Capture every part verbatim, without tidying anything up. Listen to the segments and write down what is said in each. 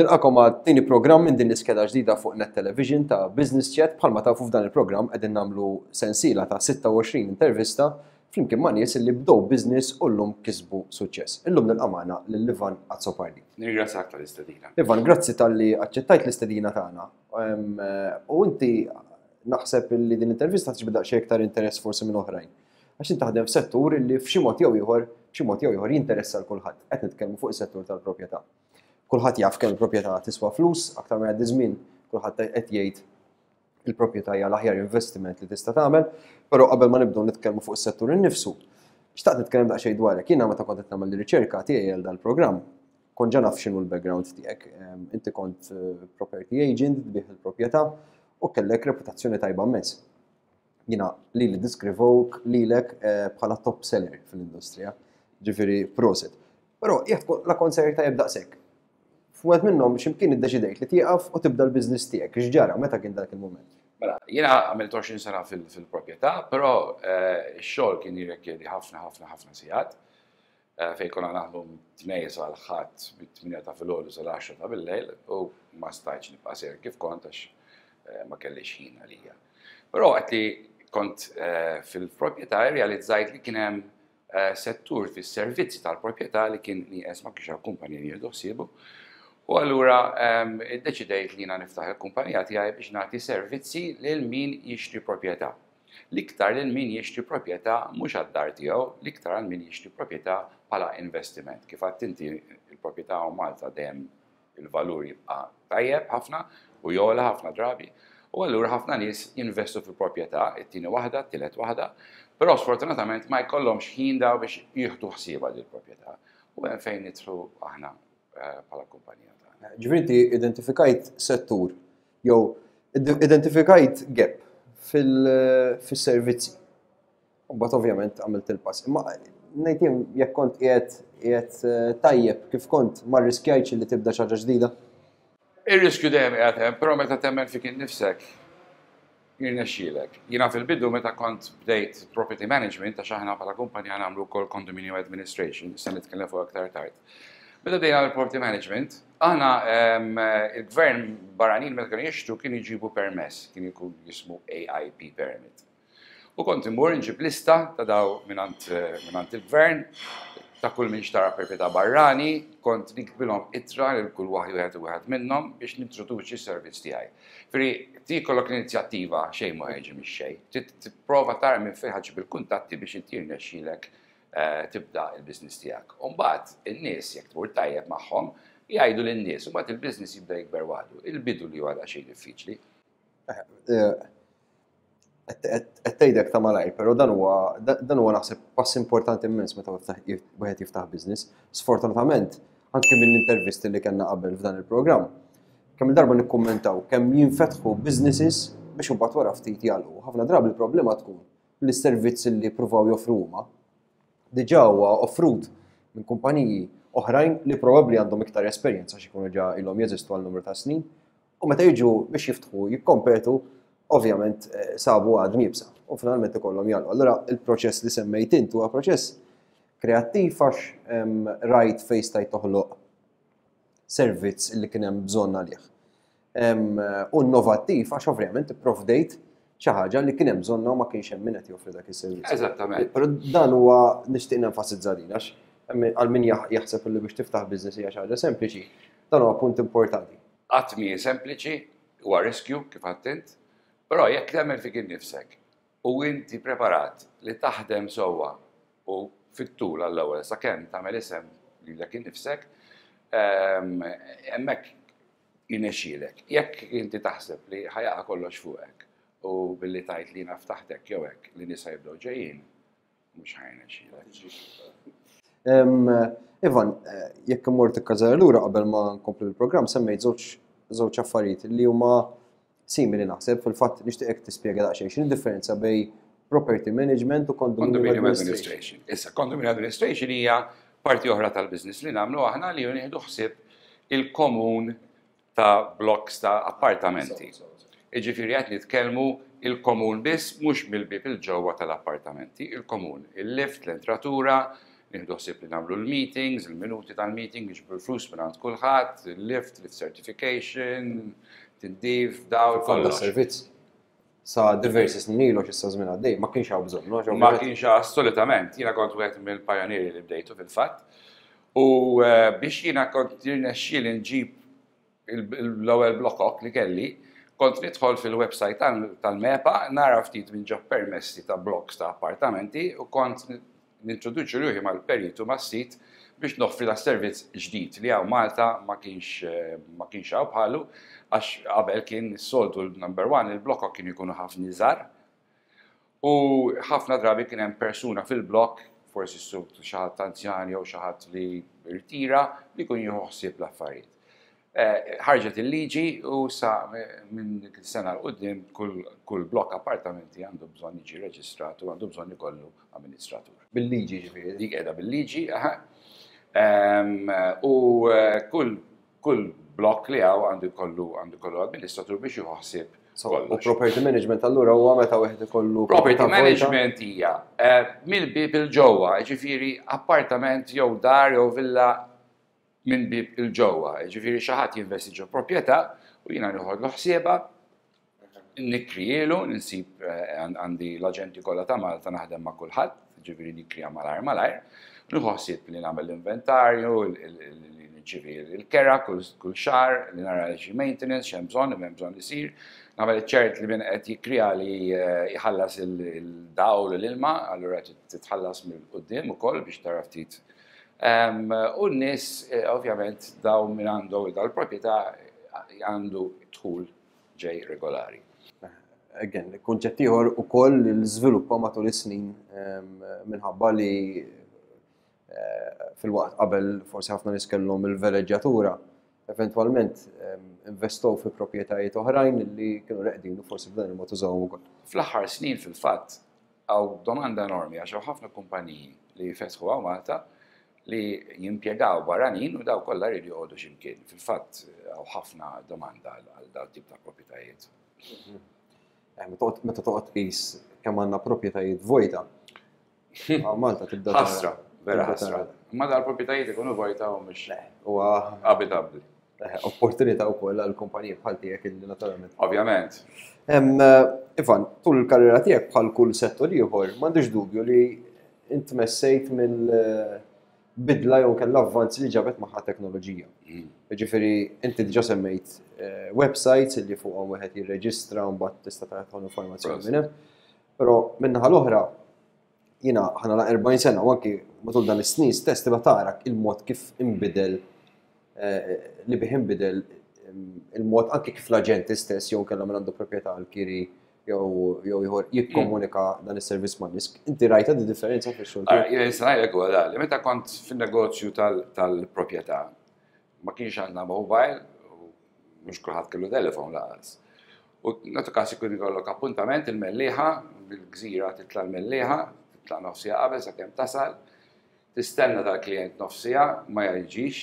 Nilqagħkom għat-tieni programm minn din l-iskeda ġdida fuq Net Television ta' Business Chat. Bħalma tafu, f'dan il-programm qegħdin nagħmlu sensiela ta' sitta u għoxrin intervista flimkien ma' nies li bdew business u llum kisbu suċċess. Illum nilqa' magħna lil Ivan Azzopardi. Nirringrazzjak tal-istedina. Ivan, grazzi talli aċċettajt l-istedina tagħna. U inti naħseb li din intervista tiġbed xi iktar interess forsi minn oħrajn. Għax inti taħdem f'settur li f'xi mod jew ieħor, f'xi mod jew ieħor jinteressa l kulħadd. Qed nitkellmu fuq is-settur tal-proprjetà. Kulħadd jaf kemm il-proprjetà tiswa flus, aktar ma jgħaddi żmien kulħadd qed jgħid il-proprjetà hija l-aħjar investiment li tista' tagħmel, però qabel ma nibdew nitkellmu fuq is-settur innifsu, xtaqt nitkellem daqsxejn dwarek. Jiena meta kont qed nagħmel riċerka tiegħi għal dal-programm, kont ġa naf x'inhu l-background tiegħek. Inti kont eh, property agent, tbigħ il-proprjetà u kellek reputazzjoni tajba immens. Jiena li li ddiskrivewk lilek eh, bħala top seller fil-industrija, ġifieri prosit. Però jekk la kont sejjer tajjeb daqshekk, f'wieħed minnhom x'imkien iddeċidejt li tieqaf u tibda l-business tiegħek. X'ġara, meta kien dak il-mument? Mela, jiena għamilt għoxrin sena fil-proprjetà, però eh, x-xogħol kien jirrikjedi ħafna, ħafna, ħafna sigħat. Eh, fejn konna naħdmu Tnejn sal-Ħadd bit-tmienja ta' filgħodu sal-għaxra ta' bil-lejl u ma stajtx nibqa' sejjer kif kont għax eh, ma kellix ħin għalija. Però għedt li kont fil-proprjetà, realizzajt li kien hemm settur fis-servizzi tal-proprjetà li kien nieqes, ma kienx hawn kumpanija li jieħdu ħsiebu. U allura iddeċidejt li jiena niftaħ il-kumpanija tiegħi biex nagħti servizzi lil min jixtri proprjetà. L-iktar lil min jixtri proprjetà mhux għad-dar tiegħu, l-iktar għal min jixtri proprjetà bħala investiment. Kif għedt inti, il-proprjetà u Malta dejjem il-valur jibqa' tajjeb ħafna u jogħla ħafna drabi. U allura ħafna nies jinvestu fil-proprjetà, it-tieni waħda, t-tielet waħda, però sfortunatament ma jkollhomx ħin daw biex jieħdu ħsiebha dil-proprjetà. U hemm fejn nidħlu aħna eh, bħala kumpanija tagħna. Ġifieri inti identifikajt settur jew identifikajt gap fil-servizzi. U mbagħad ovvjament għamilt il-pass. Imma ngħid jien, jekk kont qiegħed qiegħed eh, tajjeb kif kont, ma rriskjajtx li tibda xi ħaġa ġdida? Ir-riskju dejjem qiegħed hemm, però meta temmen fik innifsek jirnexxielek. Jiena fil-bidu meta kont bdejt property management, għax aħna bħala kumpanija nagħmlu wkoll condominium administration, issa nitkellem fuq aktar tard. Meta bdejna l-property management, aħna il-gvern, barranin meta kienu jixtru kienu jġibu permess, kien jkun jismu A I P permit. U kont immur nġib lista ta' daw minant il-gvern, ta' kull min xtara proprjetà barrani, kont niktbilhom ittra lil kull waħd wieħed u wieħed minnhom biex nintroduċi s-servizz tiegħi. Ġifieri ti jkollok l-inizjattiva, xejn ma jiġi mix-xejn. Tipprova tara minn fejn ħa ġġib il-kuntatti biex inti jirnexxielek eh, tibda il-business tiegħek. U mbagħad in-nies, jekk tmur tajjeb magħhom, jgħidu lin-nies, u mbagħad il-business jibda jikber waħdu. Il-bidu li huwa xejn diffiċli. Eh, qed tgħidek ta' malajr, però dan huwa dan huwa naħseb pass importanti immens meta wieħed jiftaħ business. Sfortunatament, anke mill-intervisti li kellna qabel f'dan il-programm, kemm il-darba nikkummentaw kemm jinfetħu businesses biex imbagħad wara ftit jagħlqu. Ħafna drabi il-problema tkun li s-servizzi li pruvaw joffru huma diġà huwa offrut minn kumpaniji oħrajn li probabbli għandhom iktar esperjenza xi jkunu ġa ilhom jeżistu għal numru ta' snin u meta jiġu biex jiftħu jikkompetu, ovvjament eh, sabu għadma iebsa u finalment ikollhom jagħlqu. Allura il-proċess li semmejt int huwa proċess kreattiv għax rajt fejn stajt toħloq servizz li kien hemm bżonn għalih. U innovattiv għax ovvjament ipprovdejt xi ħaġa li kien hemm bżonna u ma kienx hemm min qed joffri dak is-servizz. Eżattament. Però dan huwa nixtieq nenfasizza din għax għal min jaħseb li biex tiftaħ business hija xi ħaġa sempliċi, dan huwa punt importanti. Qatt mhi sempliċi, huwa riskju kif għedt int, però jekk temmen fik innifsek u inti preparat li taħdem sewwa u fit-tul għall-ewwel sakemm tagħmel isem lilek innifsek, ehm, hemmhekk jirnexxielek. Jekk inti taħseb li ħa jaqa' kollox fuqek u billi tgħid li naf taħtek jew hekk li nisa jibdew ġejjin, mhux ħa jirnexxielek. Ivan, eh, jekk immur tikkażar lura qabel ma nkomplu l-programm, semmejt żewġ żewġ affarijiet li huma simili naħseb. Fil-fatt nixtieqek tispjega daqsxejn x'inhi differenza bejn property management u condominium administration. Issa, condominium administration hija parti oħra tal-business li nagħmlu aħna, li nieħdu ħsieb il-komun ta' blocks ta' appartamenti. Iġifieri qed nitkellmu il-komun biss, mhux mill-bib il-ġewwa tal-appartamenti, il-komun, il-lift, l-entratura, Nieħdu ħsieb li nagħmlu l-meetings, il-minuti tal-meeting, niġbru l-flus minn għand kulħadd, il-lift, lift certification, tindif, dawl, kollox. Servizz. Sa diversi snin ilu, issa żmien għaddej, ma kienx hawn bżonn. Ma kienx, assolutament, jiena kont wieħed mill-pajonieri li bdejtu fil-fatt. U eh, biex jiena kont jirnexxieli nġib l-ewwel blokok li kelli, kont nidħol fil-website tal-MEPA, nara ftit minn ġo permessi ta' blocks ta' appartamenti u kont nintroduċi ruħi mal-peritu mas-sit biex noffri da servizz ġdid li hawn Malta ma kienx ma kienx hawn bħalu, għax qabel kien soltu l-number one, il-blokok kien ikunu ħafna iżgħar u ħafna drabi kien hemm persuna fil-blok, forsi xi ħadd anzjan jew xi ħadd li rtira, li jkun jieħu ħsieb l-affarijiet. Eh, ħarġet il-liġi u sa minn dik sena 'l quddiem kull blok appartamenti għandu bżonn jiġi reġistrat u għandu bżonn ikollu amministratur. Bil-liġi ġifieri? Dik qiegħda bil-liġi, aha. U eh, kull kull blok li hawn għandu jkollu għandu jkollu amministratur biex jieħu ħsieb. U property management allura huwa meta wieħed ikollu Property management hija eh, mill-bib il-ġewwa, ġifieri appartament jew dar jew villa minn bib il-ġewwa. Ġifieri xi ħadd jinvesti ġo proprjetà u jiena nieħodlu ħsiebha, nikrijielu, ninsib eh, għandi l-aġenti kollha ta' Malta, naħdem ma' kulħadd, ġifieri nikrija malajr malajr, nieħu ħsieb li nagħmel l-inventarju, li nirċievi l-kera kull xahar, li nara xi maintenance, x'hemm bżonn, hemm bżonn isir, nagħmel ċert li min qed jikrija li eh, jħallas il-dawl u l-ilma, allura titħallas mill-quddiem ukoll biex tara ftit. U n-nies, eh, ovvjament, daw minn għandu dal-proprjetà għandu dħul ġej regolari. Again, kunċett ieħor ukoll l-żviluppa matul is-snin minħabba li eh, fil-waqt qabel forsi ħafna nies kellhom il-veleġġjatura, eventwalment investow fi proprjetajiet oħrajn li kienu reqdin u forsi b'dan il-mod użawhom ukoll. Fl-aħħar snin fil-fatt hawn domanda enormi għax hawn ħafna kumpaniji li fetħu hawn Malta li jimpjegaw barranin u daw kollha jridu joqogħdu x'imkien. Fil-fatt hawn ħafna domanda għal daw tip ta' proprjetajiet. Eh, meta toqgħod tqis kemm għandna proprjetajiet vojta, Malta tibda. Ħasra, vera ħasra. Ma dal-proprjetajiet ikunu vojta u mhux Huwa abitabbli. Eh, opportunità wkoll għal kumpaniji bħal tiegħek illi naturalment. Ovvjament. Eh, Ivan, tul il-karriera tiegħek, bħal kull settur ieħor, m'għandix dubju li int messejt mill-bidla jew kellha avvanzi li ġabet magħha teknoloġija. Mm. Ġifieri inti diġà semmejt eh, websites li fuqhom wieħed jirreġistra u mbagħad tista' tagħti informazzjoni minn hemm. Però min-naħa l-oħra jiena ħa nagħlaq erbgħin sena u anki matul dan is-snin stess tibqa' tara il-mod kif inbidel eh, li bih inbidel il-mod anki kif l-aġenti stess jew kellha minn għandu proprjetà l-kiri jew jew ieħor jikkomunika dan is-servizz ma' nies. Inti rajta di differenza fix-xogħol? Jien nista' ngħidlek huwa dan, li meta kont fin-negozju tal-proprjetà ma kienx għandna mobile u mhux kulħadd kellu telefon lanqas. U nagħtu każ ikun ikollok appuntament il-Mellieħa, bil-Gżira titla' l-Mellieħa, titla' nofsija qabel sakemm tasal, tistenna dal-klient nofsija, ma jiġix,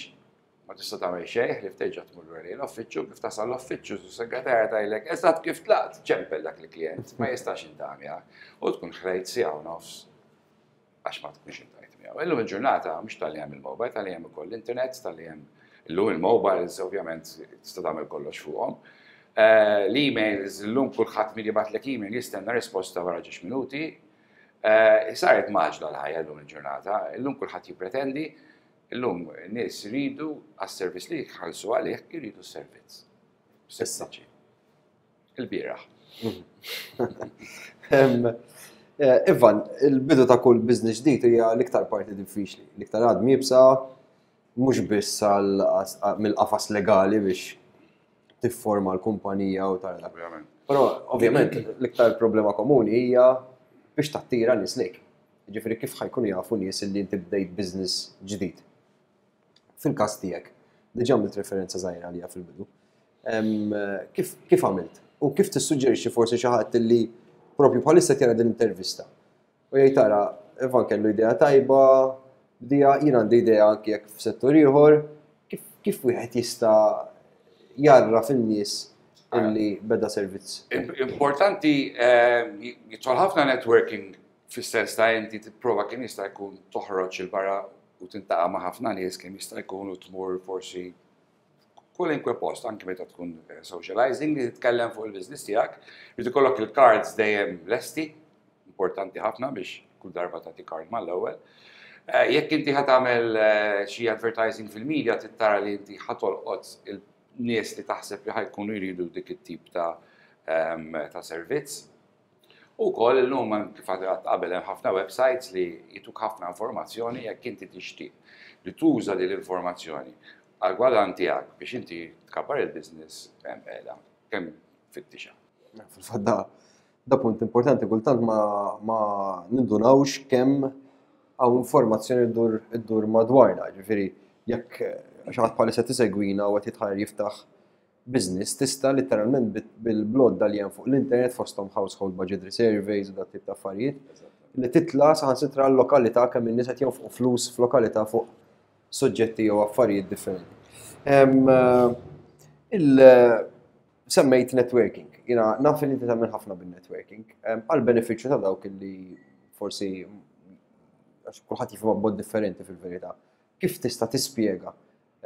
ma tista' tagħmel xejn, li terġa' tmur lura lejn l-uffiċċju, kif tasal l-uffiċċju, s-segretarja tgħidlek eżatt kif tlaqt, ċempel dak il-klient, ma jistax jiltaqa' miegħek. U tkun ħlejt siegħa u nofs għax ma tkunx iltqajt miegħu. Illum il-ġurnata mhux talli hemm il-mobile, talli hemm ukoll l-internet, talli hemm illum il-mobiles ovvjament tista' tagħmel kollox fuqhom. Eh, l-emails, illum kulħadd min jibgħatlek email jistenna risposta wara ġiex minuti. Eh, saret mgħaġġla l-ħajja illum il-ġurnata, illum kulħadd jippretendi, illum nies iridu għas-servizz li jħallsu għalih, jridu s-servizz. Issa. Il-bieraħ. Eh, Ivan, il-bidu ta' kull business ġdid hija l-iktar parti diffiċli, l-iktar għadma iebsa, mhux biss mill-qafas legali biex tifforma l-kumpanija u tara. Ovvjament. Però ovvjament l-iktar problema komuni hija biex tattira nies lejk. Ġifieri kif ħa jkunu jafu nies li inti bdejt business ġdid? Fil-każ tiegħek, diġà għamilt referenza żgħira għalija fil-bidu. Kif, kif għamilt? U kif tissuġġerixxi forsi xi ħadd li propju bħalissa tjara din intervista u jgħid, "Tara, Ivan kellu idea tajba, bdija, jien għandi idea anki jekk f'settur ieħor," kif, kif wieħed jista' jarra fin-nies illi beda servizz? Importanti, eh, jidħol ħafna networking. Fis-sens ta' inti tipprova kemm jista' jkun toħroġ 'il barra u tiltaqa' ma' ħafna nies kemm jista' jkun u tmur forsi kwalunkwe post, anke meta tkun eh, socializing, li titkellem fuq il-business tiegħek, li ikollok il-cards dejjem lesti, importanti ħafna biex kull darba tagħti card mal-ewwel. Eh, jekk inti ħa tagħmel eh, xi advertising fil-media, trid tara li inti ħa tolqot il-nies li taħseb li ħa jkunu jridu dik it-tip ta' ehm, ta' servizz. U koll illum, kif għedt qabel, hemm ħafna websites li jtuk ħafna informazzjoni. Jekk inti tixtieq li tuża din l-informazzjoni għal gwadann tiegħek biex inti tkabbar il-business, hemm qiegħda kemm fittixa. Fil-fatt da, da punt importanti, kultant ma, ma nindunawx kemm hawn informazzjoni ddur iddur madwarna, ġifieri jekk xi ħadd bħalissa tisegwina u qed jitħajjar jiftaħ business, tista' literalment bil-blodda li hemm fuq l-internet, fosthom household budget surveys u dat tip ta' affarijiet, li titla' saħansitra l-lokalità, kemm in-nies qed jonfqu flus f'lokalità fuq soġġetti jew affarijiet differenti. Il semmejt networking. Jiena naf li inti tagħmel ħafna bin-networking. Għal benefiċċju ta' dawk li forsi, għax kulħadd jifhimha b'mod differenti fil-verità. Kif tista' tispjega?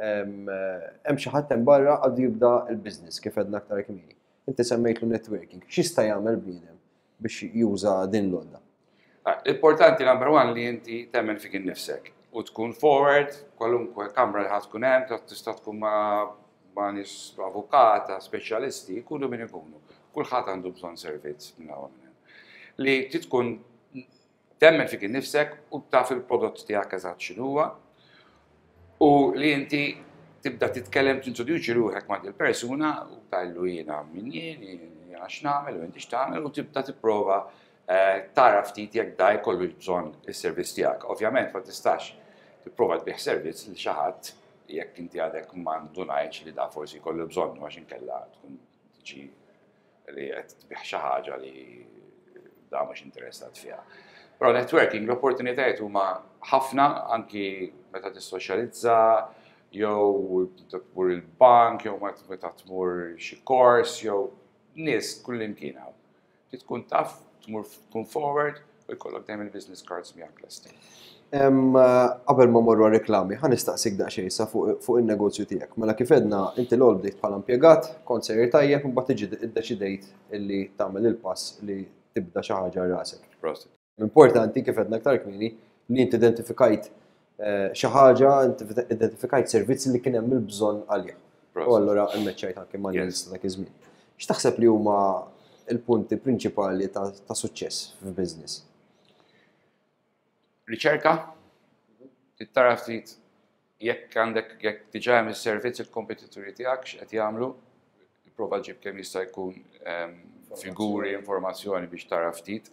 Hemm xi ħadd hemm barra għadu jibda l-business, kif għedna aktar kmieni. Inti semmejtlu networking. X'jista' jagħmel bniedem biex juża din l-għodda? L-importanti number one li inti temmen fik innifsek u tkun forward, kwalunkwe kamra li ħa tkun hemm, tista' tkun ma' ma' nies avukata, speċjalisti, jkunu min ikunu. Kulħadd għandu bżonn servizz minn hawn minn hemm. Li tkun temmen fik innifsek u taf il-prodott tiegħek eżatt x'inhuwa u li inti tibda titkellem, tintroduċi ruħek ma' il-persuna u tgħidlu jiena min jien, jiena x'nagħmel u inti x'tagħmel, u tibda tipprova eh, tara ftit jekk da jkollu bżonn is-servizz tiegħek. Ovvjament ma tistax tipprova tbigħ servizz lil xi ħadd jekk inti għadek ma ndunajtx li da forsi jkollu bżonn, għax inkella tkun tiġi li qed tbigħ xi ħaġa li da mhux interessat fiha. Però networking, l-opportunitajiet huma ħafna, anki meta tissoċjalizza, jew tmur il-bank, jew meta tmur xi kors, jew nies kullimkien hawn. Tkun taf, tmur, tkun forward u jkollok dejjem il-business cards miegħek lesti. Qabel ma morru reklami, ħa nistaqsik daqsxejn sa fuq il-negozju tiegħek. Mela kif għedna, inti l bdejt bħala impjegat, kont sejjer tajjeb, imbagħad tiġi iddeċidejt illi tagħmel il-pass li tibda xi ħaġa rasek. Importanti, kif għedna aktar kmieni, li inti identifikajt eh, xi ħaġa, inti identifikajt servizz li kien hemm il-bżonn għalih. U allura immeċċajt anke ma' nies dak iż-żmien. X'taħseb li huma il-punti prinċipali ta' suċċess f'business? Riċerka, tara ftit jekk għandek, jekk diġà hemm is-servizz, il-kompetituri tiegħek x'qed jagħmlu, prova ġib kemm jista' jkun ehm, figuri, informazzjoni biex tara ftit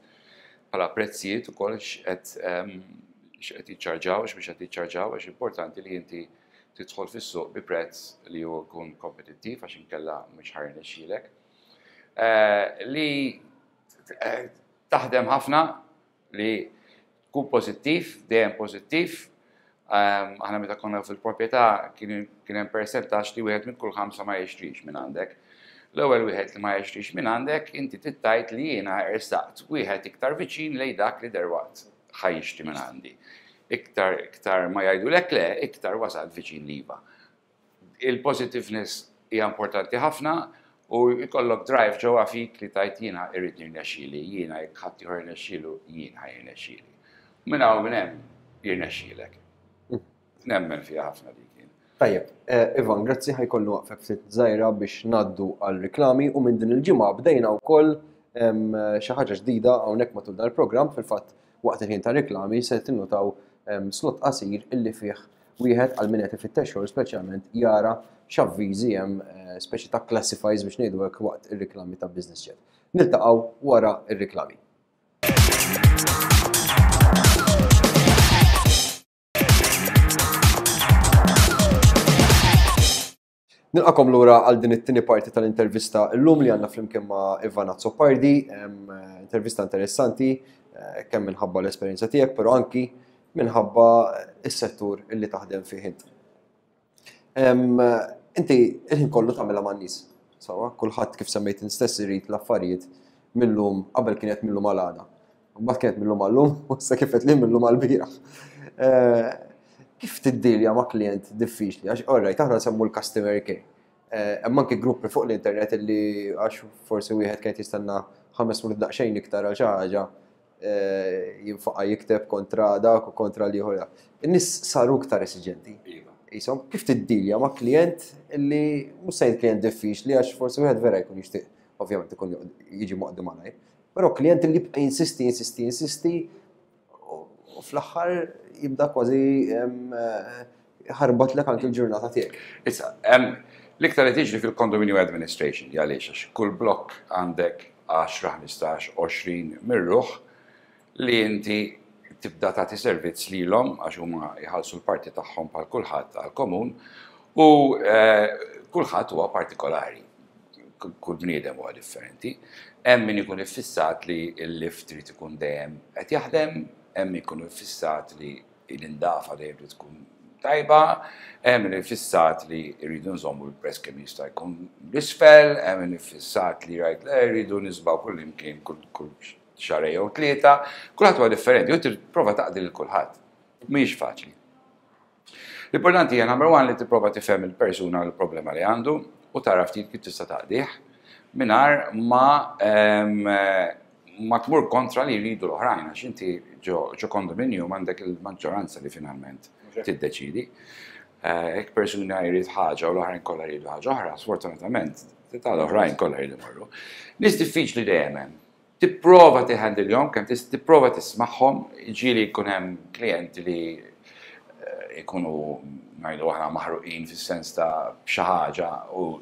bħala prezzijiet ukoll x'qed ehm, x'qed jiċċarġaw, x'biex qed jiċċarġaw, għax importanti li inti tidħol fis-suq bi prezz li huwa jkun kompetittiv, għax inkella mhux ħa jirnexxielek. Eh, li eh, taħdem ħafna, li tkun pożittiv, dejjem pożittiv. Ehm, aħna meta konna fil-proprjetà kien hemm percentaġġ li wieħed minn kull ħamsa ma jixtrix minn għandek. L-ewwel wieħed li ma jixtrix minn għandek, inti tgħid li jiena ersaqt wieħed iktar viċin lejn dak li derwaqt ħa jixtri minn għandi. Iktar iktar ma jgħidulek le, iktar wasal viċin l-iva. Il-positiveness hija importanti ħafna u jkollok drive ġewwa fik li tgħid jiena irrid nirnexxieli, jiena jekk ħadd ieħor jirnexxielu, jien ħa jirnexxieli. Minn hawn minn hemm jirnexxielek. Nemmen fiha ħafna dik jien. Tajjeb, eh, Ivan, grazzi, ħa jkollu waqfek ftit żgħira biex ngħaddu għal reklami u minn din il-ġimgħa bdejna wkoll xi ħaġa ġdida hawnhekk matul dan il-programm. Fil-fatt, waqt il-ħin ta' reklami se tinnutaw slot qasir illi fih wieħed, għal min qed ifittex xogħol speċjalment, jara x'avviżi hemm, eh, speċi ta' classifieds biex ngħidu hekk, waqt ir-reklami ta' Business Chat. Niltaqgħu wara ir-reklami. Nilqagħkom lura għal din it-tieni parti tal-intervista llum li għandna flimkien ma' Ivan Azzopardi, intervista interessanti eh, kemm minħabba l-esperjenza tiegħek, però anki minħabba is-settur illi taħdem fih int. Inti il-ħin kollu tagħmilha man-nies. Sawa, kulħadd, kif semmejt stess, irid l-affarijiet millum, qabel kienet millum għal għada. Mbagħad kienet millum għal-lum, u issa kif li millum għal-bieraħ. Eh, kif tiddilja ma' klient diffiċli? Għax, alright, aħna nsemmu l-customer care. Eh, hemm anke gruppi fuq l-internet li għax forsi wieħed kien jistenna ħames minuti daqsxejn iktar għal xi ħaġa, eh, jinfaqa' jikteb kontra dak u kontra l-ieħor. In-nies saru iktar esiġenti. Iva. Isom, kif tiddilja ma' klient li mhux se klient diffiċli, għax forsi wieħed vera jkun jixtieq, ovvjament ikun jiġi moqdi malajr. Però klient li jibqa' jinsisti, jinsisti, jinsisti u fl-aħħar jibda kważi ħarbatlek anke l-ġurnata tiegħek. Issa, l-iktar li tiġri fil-condominium administration, għaliex għax kull blokk għandek għaxra, ħmistax, għoxrin mir-ruħ li inti tibda tagħti servizz lilhom, għax huma jħallsu l-parti tagħhom bħal kulħadd għall-komun u eh, kulħadd huwa partikolari. Kull bniedem huwa differenti. Hemm min ikun iffissat li l-lift trid ikun dejjem qed jaħdem, hemm min ikun iffissat li l-indafa dejjem trid tkun tajba, hemm min iffissat li rridu nżommu l-prezz kemm jista' jkun l-isfel, hemm min iffissat li rajt le rridu niżbgħu kull imkien kull xahar jew tlieta, kulħadd huwa differenti, u tipprova taqdi lil kulħadd. Mhijiex faċli. L-importanti hija, number one, li tipprova tifhem il-persuna, l-problema li għandu, u tara ftit kif tista' taqdih mingħajr ma ma tmur kontra li jridu l-oħrajn, għax inti ġo kondominium għandek il-maġġoranza li finalment tiddeċidi. Jekk persuna jrid ħaġa u l-oħrajn kollha jridu ħaġa oħra, sfortunatament, tal-oħrajn kollha jridu marru. Nies diffiċli dejjem hemm. Tipprova tihandilhom, kemm tipprova tismagħhom, ġieli jkun hemm klijenti li jkunu, ngħidu aħna, maħruqin fis-sens ta' xi ħaġa u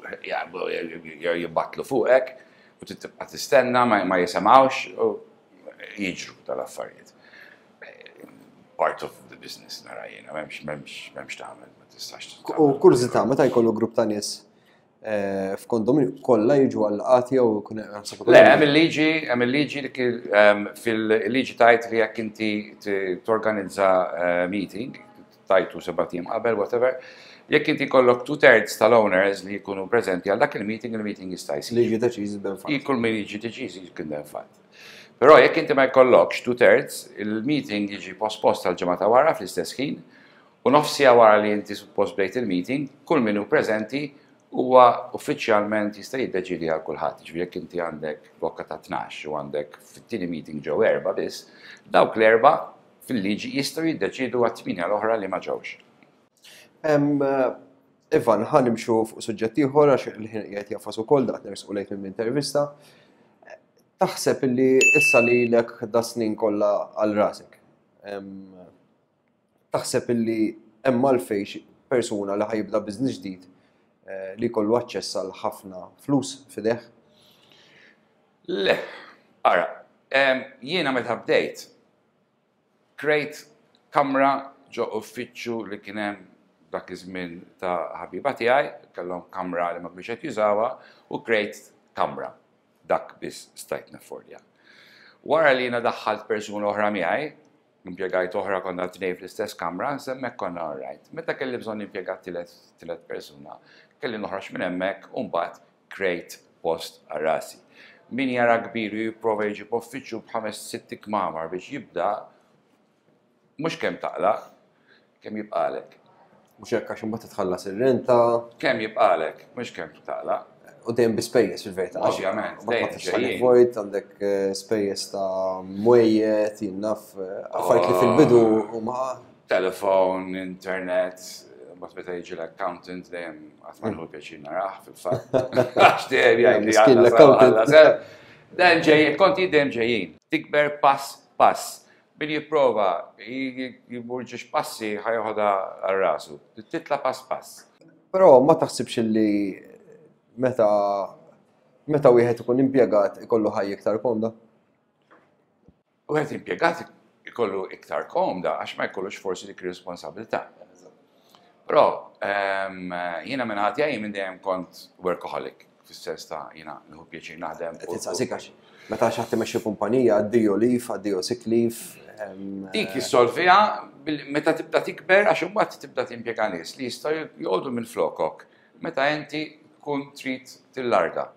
jibbatlu fuqek u tibqa' tistenna, ma jisemgħux u jiġru tal-affarijiet. Part of the business nara jiena, m'hemmx m'hemmx m'hemmx tagħmel, ma tistax. U kurżità, meta jkollu grupp ta' nies eh, f'kondominju, kollha jiġu għal jew jkun Le, hemm il-liġi, hemm il-liġi li fil-liġi tajt li jekk inti torganizza eh, meeting, tajtu sebat ijiem qabel, whatever, jekk inti kollok two thirds tal-owners li jkunu prezenti għal dak il-meeting, il-meeting jista' jsir. Liġi deċiż ben fatt. Kull min jiġi deċiż jkun ben fatt. Però jekk inti ma jkollokx two thirds, il-meeting jiġi pospost għal ġimgħa ta' wara fl-istess ħin, u nofs siegħa wara li inti suppost bdejt il-meeting, kull min hu preżenti huwa uffiċjalment jista' jiddeċidi għal kulħadd. Ġifieri jekk inti għandek blokka ta' tnax u għandek fit-tieni meeting ġew erba' biss, dawk l-erba' fil-liġi jistgħu jiddeċidu għat-tmienja l-oħra li ma ġewx. Ivan, ħa nimxu fuq suġġett ieħor għax il-ħin qiegħed jagħfas ukoll, daqt nersqu lejn minn intervista. Taħseb illi issa li lek da snin kollha għal rasek, taħseb illi hemm għalfejn persuna li ħa jibda business ġdid eh, li jkollu aċċess għal ħafna flus f'idejh? Le, ara, jiena meta bdejt, krejt kamra ġo uffiċċju li kien hemm dak iż-żmien ta' ħabiba tiegħi, kellhom kamra li ma kienx qed jużawha u krejt kamra. Dak biss stajt naffordja. Wara li jiena daħħalt persuna oħra miegħi, impjegajt oħra, konna tnejn fl-istess kamra, s'hemmhekk konna alright. Meta kelli bżonn impjegat tielet persuna, kelli noħroġ minn hemmhekk u mbagħad krejt post għal rasi. Min jara kbir u jipprova jġib uffiċċju b'ħames sitt kmamar biex jibda, mhux kemm taqla', kemm jibqalek. Mhux hekk, għax imbagħad titħallas ir-renta. Kemm jibqalek, mhux kemm taqla'. U dejjem bi spejjeż fil-verità. Ovvjament, dejjem ġejjin. Vojt, għandek eh, spejjeż ta' mwejjed, jien naf, eh, affarijiet li fil-bidu huma Telefon, internet, mbagħad meta jiġi l-accountant dejjem qatt ma nieħu pjaċir narah fil-fatt. Għax dejjem jgħid li l-accountant. Dejjem ġejjin, konti dejjem ġejjin. Tikber pass pass. Min jipprova jmur ġiex passi ħa joħodha għal rasu. Titla' pass pass. Però ma taħsibx li meta meta wieħed ikun impjegat ikollu ħajja iktar komda? Wieħed impjegat ikollu iktar komda għax ma jkollux forsi dik responsabilità. Però ehm, jiena minn ħadd jgħid minn dejjem kont workaholic, fis-sens ta' jiena nieħu pjaċir naħdem. Titsaqsik għax meta xi ħadd imexxi kumpanija, addio leave, addio sick leave. Ehm, Dik jissolviha meta tibda tikber, għax imbagħad tibda timpjega nies li jistgħu joqogħdu minn flokok meta inti tkun trid tillarga.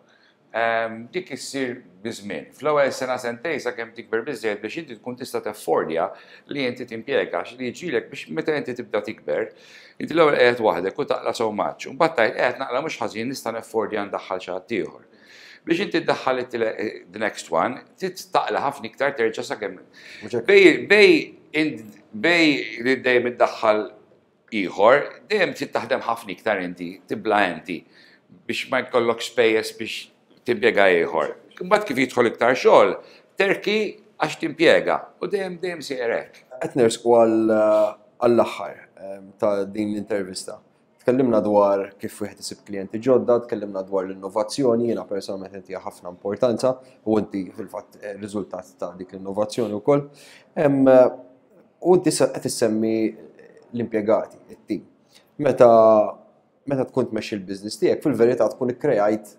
Dik issir biż-żmien. Fl-ewwel sena, sentejn, sakemm tikber biżejjed biex inti tkun tista' teffordja li inti timpjega, li jiġilek biex meta inti tibda tikber, inti l-ewwel qiegħed waħdek u taqla' so much. U mbagħad tgħid, "Qiegħed naqla' mhux ħażin, nista' neffordja ndaħħal xi ħadd ieħor." Biex inti ddaħħal the next one, taqla' ħafna iktar terġa' sakemm. Bej bej bej li dejjem iddaħħal ieħor, dejjem trid taħdem ħafna iktar inti, tibla inti biex ma jkollok spejjeż biex timpjega ieħor. Imbagħad kif jidħol iktar xogħol, terki għax timpjega u dejjem dejjem sejjer hekk. Qed nersqu għall-aħħar ta' din l-intervista. Tkellimna dwar kif wieħed isib klijenti ġodda, tkellimna dwar l-innovazzjoni, jiena personalment inti ħafna importanza u inti fil-fatt eh, riżultat ta' dik l-innovazzjoni wkoll. U inti qed issemmi l-impjegati, it-tim. Meta meta tkun tmexxi l-business tiegħek, fil-verità tkun ikkrejajt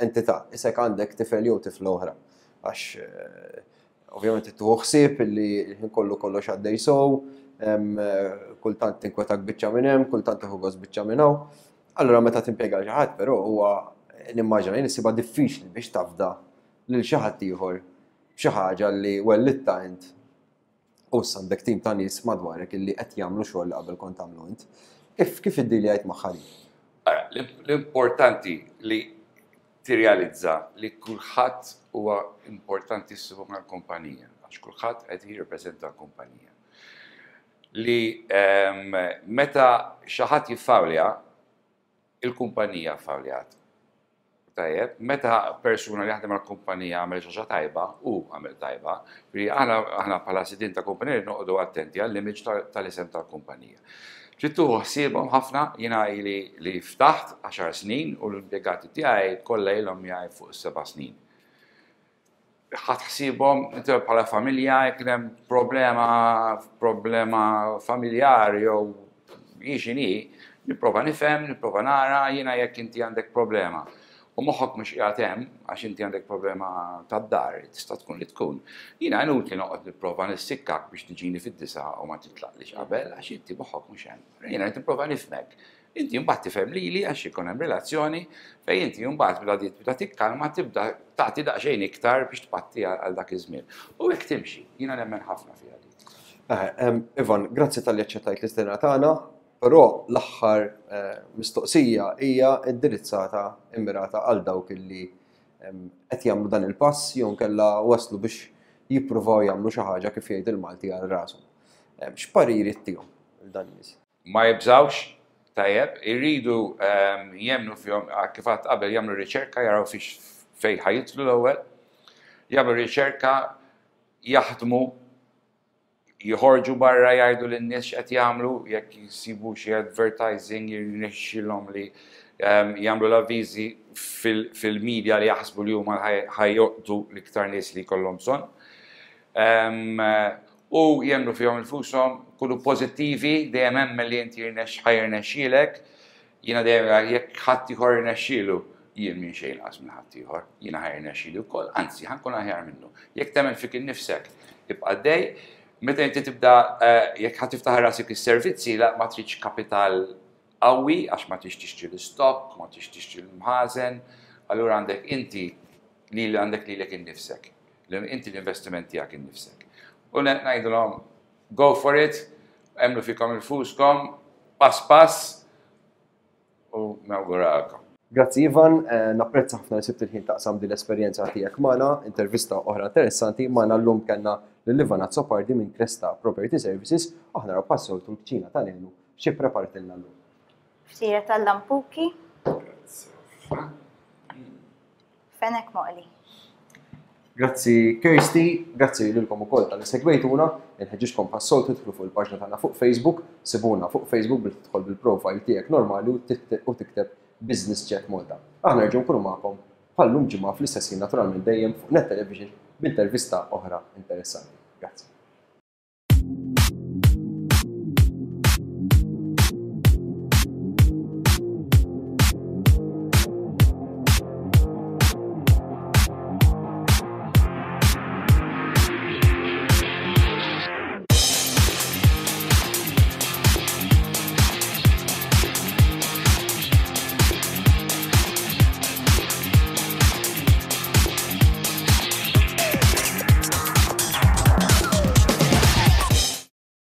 entità, isek għandek tifel jew tifla oħra. Għax eh, ovvjament tieħu ħsieb illi l-ħin kollu kollox għaddej sow, kultant tinkwetak biċċa minn hemm, kultant tieħu gost biċċa minn hawn. Allura meta timpjega xi ħadd, però huwa nimmaġina jien issibha diffiċli biex tafda lil xi ħadd ieħor xi ħaġa li wellitta int u issa għandek tim ta' nies madwarek illi qed jagħmlu xogħol li qabel kont tagħmlu int. Kif kif iddiljajt magħha? L-importanti li tirrealizza li kulħadd huwa importantissimu mal-kumpanija, għax kulħadd qed jirrepreżenta l-kumpanija. Li ehm, meta xi ħadd jiffawlja, il-kumpanija ffawljat. Tajjeb, meta persuna li jaħdem għal-kumpanija għamel xi ħaġa tajba, u għamel tajba, li aħna aħna bħala sidin ta' kumpanija noqogħdu attenti għall-image tal-isem tal-kumpanija. Trid tieħu ħsiebhom ħafna. Jiena ili li ftaħt għaxar snin u l-impjegati tiegħi kollha ilhom miegħi fuq seba' snin. Ħadt ħsiebhom inti bħala familja. Jekk hemm problema, problema familjari jew x'inhi, nipprova nifhem, nipprova nara. Jiena jekk inti għandek problema u moħħok mhux qiegħed hemm għax inti għandek problema tad-dar, tista' tkun li tkun. Jiena inutli noqgħod nipprova nissikkak biex tiġini fid-disgħa u ma titlaqlix qabel għax inti moħħok mhux hemm. Jiena qed nipprova nifhmek. Inti mbagħad tifhem lili għax ikun hemm relazzjoni fejn inti mbagħad bda tibda tikkalma, tibda tagħti daqsxejn iktar biex tpatti għal dak iż-żmien. U hekk timxi, jiena nemmen ħafna fiha dik. Eh, Ivan, grazzi talli aċċettajt l-istedina tagħna. Però l-aħħar eh, mistoqsija hija indirizzata, immirata għal dawk illi qed jagħmlu dan il-pass jew kella waslu biex jippruvaw jagħmlu xi ħaġa, kif jgħid il-Malti, għal rashom. X'pariri ttihom dan nies? Ma jibżawx, tajjeb, irridu jemmnu fihom, kif għedt qabel, jagħmlu riċerka, jaraw fiex fejn ħa jidħlu l-ewwel, jagħmlu riċerka, jaħdmu, jħorġu barra jgħidu lin-nies x'qed jagħmlu, jekk jsibu xi advertising, jirnexxilhom li um, jagħmlu l-avviżi fil-media li jaħsbu li huma ħa jolqtu l-iktar nies li jkollhom bżonn. Um, u jemmnu fihom infushom, kunu pożittivi, dejjem hemm li inti jirnex ħa jirnexxielek. Jiena dejjem, jekk ħadd ieħor jirnexxielu, jien minn xejn inqas minn ħadd ieħor, jiena ħa jirnexxieli wkoll, anzi ħa nkun aħjar minnu. Jekk temmen fik innifsek, ibqa' dej. Meta inti tibda, eh, jekk ħa tiftaħ rasik is-servizzi, la ma tridx kapital qawwi għax ma tridx tixtri l-stock, ma tridx tixtri l-mħażen, allura għandek inti li għandek lilek innifsek. Inti l-investiment tiegħek innifsek. U ngħidulhom, go for it, emmnu fikom infuskom, pass pass, u nawguralkom. Grazzi Ivan, eh, napprezza ħafna li sibt il-ħin taqsam din l-esperjenza tiegħek magħna, intervista oħra interessanti. Magħna llum kellna lil Ivan Azzopardi minn Cresta Property Services, aħna naraw bħas-soltu l-kċina ta' Nenu xi prepartilna llum. Ftira tal-lampuki. Fenek moqli. Grazzi Kirsty, grazzi lilkom ukoll talli segwejtuna, inħeġġiġkom bħas-soltu tidħlu fuq il-paġna tagħna fuq Facebook, sibuna fuq Facebook billi tidħol bil-profile tiegħek normali u tikteb Business Chat Malta. Aħna nerġgħu nkunu magħkom bħal-lum ġimgħa fl-istess ħin, naturalment dejjem fuq Net Television, b'intervista oħra interessanti. Grazzi.